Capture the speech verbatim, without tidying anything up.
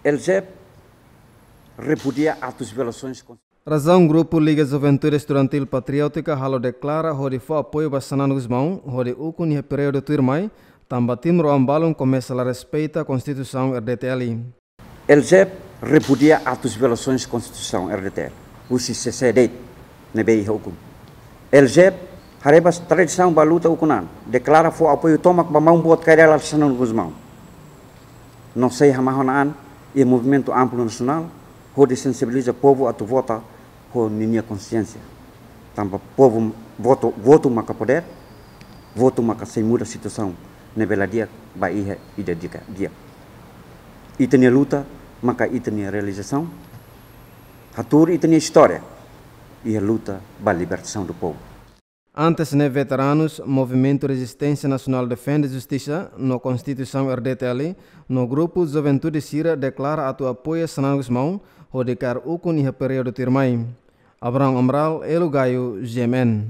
LJEP repudia atos violações. Razaun grupu Liga Juventude Estudantil Patriótika halo deklara hodi fó apoiu ba Xanana Gusmão hodi ukun iha períodu tuirmai, tanba timoroan balun komesa la respeita Konstituisaun RDTL. LJEP repudia atos violações Konstituisaun RDTL husi C C D ne'ebé iha ukun. LJEP haree ba tradisaun ba luta ukun an, deklara fó apoiu tomak ba maun boot Kay Rala Xanana Gusmão. No sei hamahon an iha movimentu amplu nasionál hodi sensibiliza povu atu vota ho ninia konsiénsia. Tanba povu votu, votu maka podér, votu maka sei muda situasaun ne'ebé la di'ak ba iha ida di'ak, di'ak. Ita-nia luta maka ita-nia realizasaun, hatuur ita-nia istória iha luta ba libertasaun do povu. Antes ne'e veteranus Movimentu Rezisténsia Nasionál Defende Justisa no Konstituisaun RDTL no grupu juventude sira deklara atu apoia Xanana Gusmão hodi kaer ukun iha períodu tuirmai. Abraham Amaral, Elo Gayo, GMN.